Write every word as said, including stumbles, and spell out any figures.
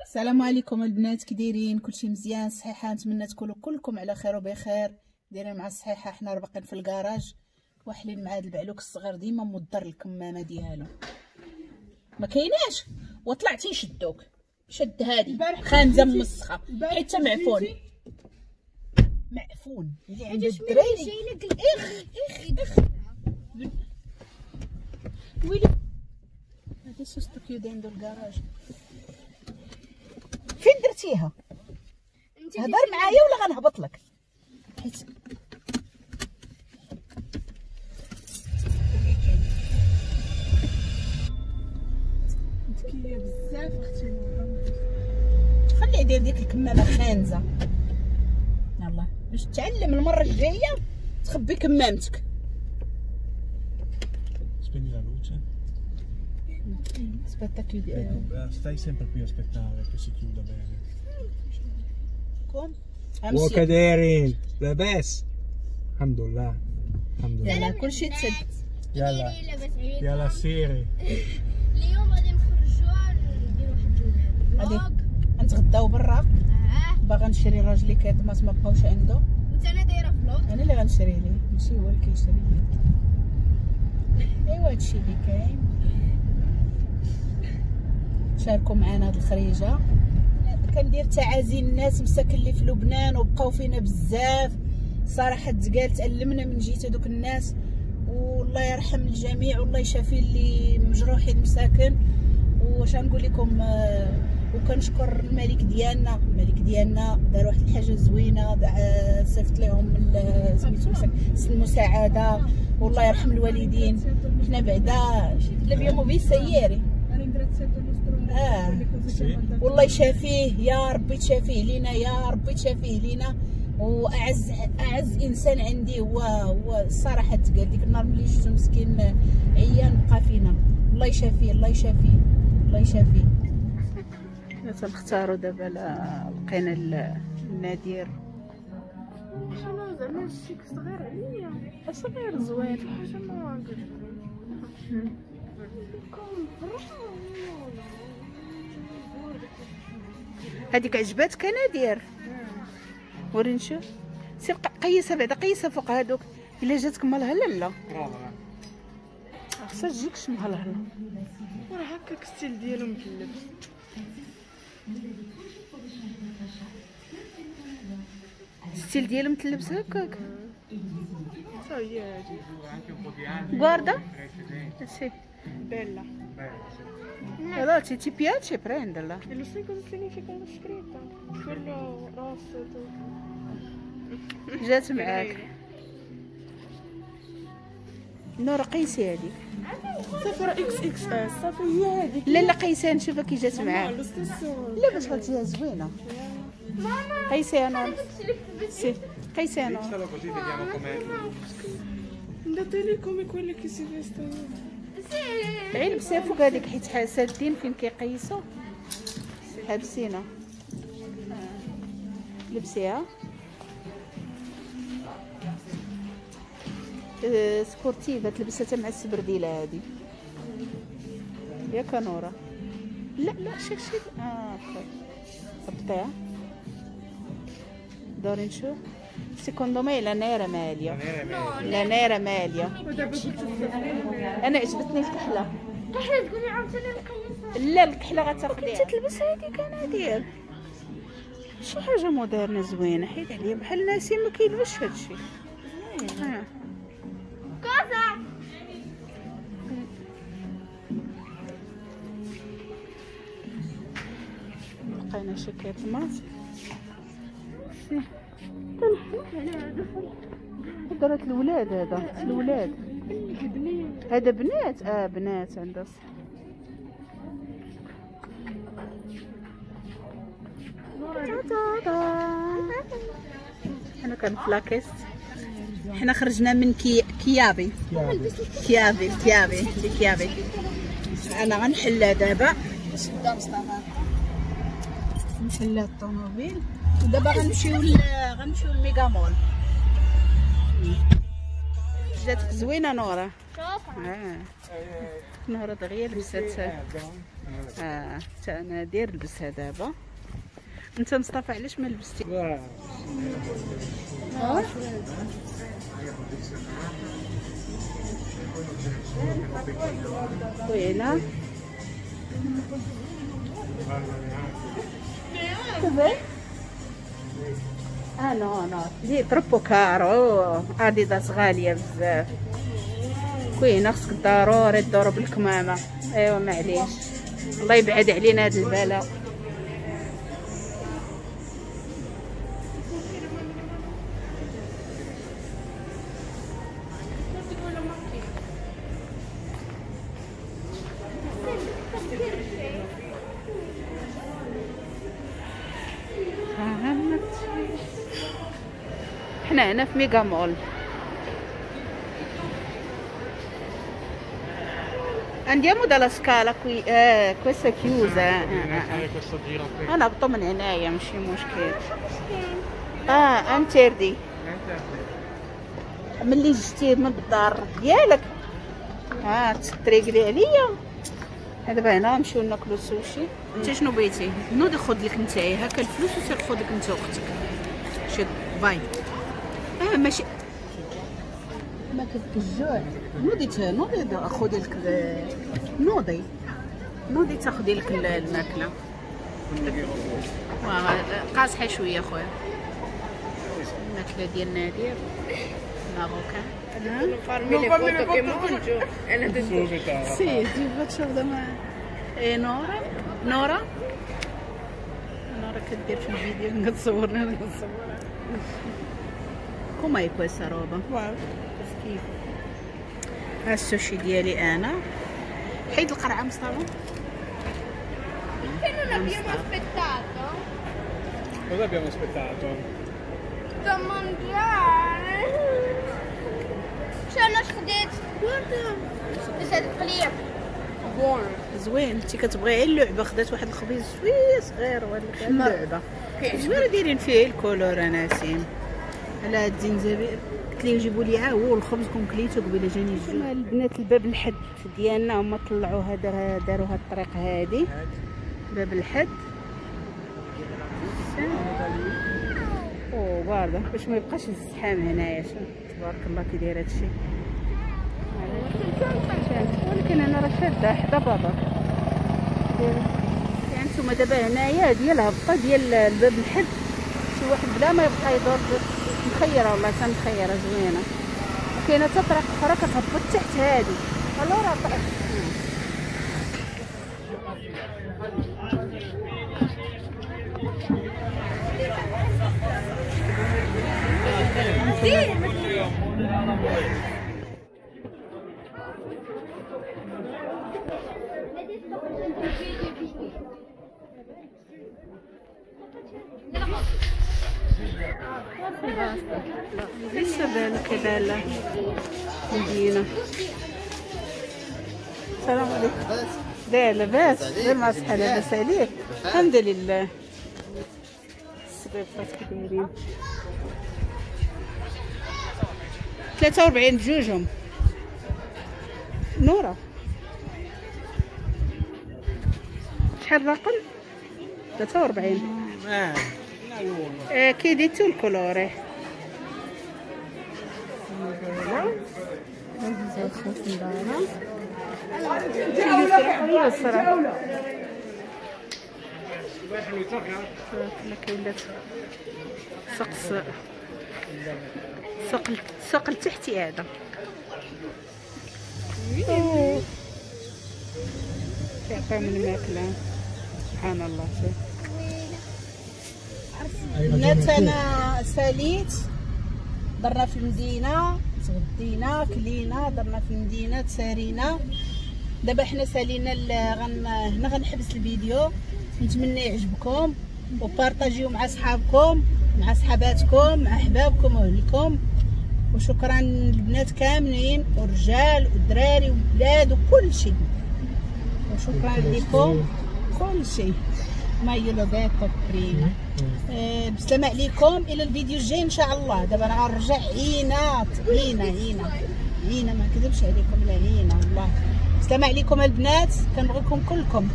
السلام عليكم البنات، كي دايرين؟ كلشي مزيان؟ صحيحه؟ نتمنى تكونوا كلكم على خير وبخير. دايرين مع الصحيحة. حنا راه باقيين في الكراج واحلين مع هذا البعلوك الصغير، ديما مضر الكمامة ديالو ما كايناش، وطلعتي يشدوك. شد هادي خانزه مسخه حيت معفون معفون اللي عند الدراري. اخ اخ اخ ويلي هذا sto chiudendo ال garage. فين درتيها؟ هضر معايا ولا غنهبط لك؟ حيت ذكية بزاف اختي. خلي يدير ديك الكمامة خانزه، يلاه باش تعلم المرة الجاية تخبي كمامتك. Spegni la luce. Aspetta chiudi. Ecco, stai sempre qui a aspettare che si chiuda bene. Come? وكدايرين لاباس؟ الحمد لله الحمد لله. كلشي تسد. يلا يلا سيري. اليوم غادي نخرجوا نديروا واحد ال vlog، غنتغداو برا. اه باغا نشري راجلي كيطماس ما بقاوش عنده، وانت انا دايرة vlog. انا اللي غنشري ليه ماشي هو اللي كيشري ليه. ايوا هادشي اللي كاين. شاركوا معنا هاد الخريجه. كندير تعازي الناس مساكن اللي في لبنان وبقاو فينا بزاف صراحة، تقال تألمنا من جهة هذوك الناس، والله يرحم الجميع والله يشافي اللي مجروحين مساكن. واش غنقول لكم، وكنشكر الملك ديالنا. الملك ديالنا دار واحد الحاجة زوينة، صيفط لهم سميتو المساعدة، والله يرحم الوالدين. حنا بعدا l'abbiamo vista ieri. آه. والله يشافيه يا ربي، تشافيه لينا يا ربي، تشافيه لينا. واعز اعز انسان عندي هو هو الصراحة تقال ديك النهار ملي شفتو مسكين عيان بقى فينا. الله يشافيه الله يشافيه الله يشافيه. حنا تنختاروا دابا، لقينا النادير. انا زعما الشيك صغير عليا، صغير زوين حاجة ما هذيك عجباتك نادير؟ وريني نشوف. سير قيسها بعدا، قيسها فوق هذوك. الا جاتك مالهله لا خصها تجيكش مهلهله. وراه هكاك style ديالو مكلبس. style ديالو متلبس هكاك. تا هي هادي. Guarda. Sì. Bella. Allora se ti piace prenderla. E lo sai cosa significa la scritta? Quello rosso tutto. جات معاك. نورا قيسي هذيك. صافي راه اكس اكس اس صافي هي هذيك. لا لا قيسي نشوفها كي جات معاك. لا باش غتجيها زوينة. قيسي يا نور. Sì قيسي يا نور. Andate lì come quelle che si vestono. غير لبسيها فوق هذيك حيت سادين فين كيقيسوا حابسينها. لبسيها sportiva تلبسها حتى مع السبرديله هذه ياك نورا. لا لا شي شي اه هبطيها دوري نشوف. Secondo me la nera meglio. La nera meglio. انا عجبتني الكحله. الكحله تقولي عاوتاني نقيسها. لا الكحله غتاخديها. كنت تلبس هذيك انا دير شي حاجة moderne زوينة، حيت عليا بحال ناسي ما كيلبسش هادشي. آه. كذا لقينا شي كيطماط. درات الولاد، هذا الولاد هذا بنات. اه بنات عندها صح. حنا كنفلاكيست. حنا خرجنا من كي كيابي كيابي كيابي كيابي. انا غنحلها دابا. شدا مصطفى نحلها الطوموبيل. ودابا غنمشيو غنمشيو للميغا مول. جاتك زوينة نورا. شوف اه نورا دغيا لبسات. اه حتى انا داير لبسها دابا. انت مصطفى علاش ما لبستي؟ اه وينا Dov'è? Ah no no, lì è troppo caro, اديداس غالية بزاف. كاينه خصك ضروري تضرب الكمامة. ايوا معليش، الله يبعد علينا هاد البلاء. حنا هنا في ميغا مول. Andiamo dalla scala qui, eh, questa è chiusa. انا هبطوا من هنايا ماشي مشكل. اه interdit ملي جيتي من الدار ديالك اه تريقلي عليا. دابا هنا نمشيو ناكلو السوشي. انت شنو بغيتي؟ نوضي خذ لك نتايا هكا الفلوس وسير خذ لك انت واختك. شي باي. اه ماشي ما كنت الجوع. نوضي نوضي خذي لك، نوضي نوضي تاخذي لك الماكلة. قاصحة شوية خويا الماكلة ديال نادر marocain. Farmi le foto che mangio. Sì, ti faccio domani. E Nora? Nora? Nora كدير في الفيديو كتصورني انا كنصورها. Com'è questa roba? Wow. Schifo. ها السوشي ديالي انا. حيد القرعة مصطفى. Perché non abbiamo aspettato? Cosa abbiamo aspettato? Da mangiare. شنو خديت؟ بس هاد القليب buono زوين. انت كتبغي غير اللعبة. خدات واحد الخبيز شوية صغير وهاد اللعبة زوينة دايرين فيه ال colore. ناسين على هاد الزنزبيل قلت ليه جيبوا لي عا هو الخبز كون كليتو قبيلة جاني الجوع. البنات الباب الحد ديالنا هما طلعوا هذا، داروا هاد الطريق هادي باب الحد. او باردة باش ما يبقاش الزحام هنايا. تبارك الله كي داير هادشي. ولكن انا راه شاده حدا بابا. يعني نتوما دابا هنايا ديال الهبطه ديال الباب الحد، شي واحد بلا ما يبقى يدور. مخيرة والله تا مخيرة زوينة. وكاينه حتى طريق اخرى كتهبط تحت هادي. الورا طريق Questa è bella, che bella مدينة. السلام عليكم. لا لاباس، غير مع الصحة لاباس عليك؟ الحمد لله. السبيطات كي دايرين ثلاثة وأربعين بجوجهم. نورة شحال الرقم؟ ثلاثة وأربعين. Eh, chiedi tu il colore. سوق سوق السوق التحتي هذا. كيعطيهم الماكلة سبحان الله. شوف بنات انا ساليت، درنا في المدينة، تغدينا كلينا، درنا في المدينة تسارينا. دابا حنا سالينا غن... هنا غنحبس الفيديو. نتمنى يعجبكم وبارطاجيو مع صحابكم مع صحاباتكم مع احبابكم واهلكم. وشكرا للبنات كاملين والرجال والدراري والبلاد وكل شيء. وشكرا لكم كل شيء. ما io l'ho detto prima. بسلامة عليكم الى الفيديو الجاي ان شاء الله. دابا انا غنرجع عينات عينه عينه. عينا، ما نكذبش عليكم، لا عينا والله. السلام عليكم البنات، كنبغيكم كلكم.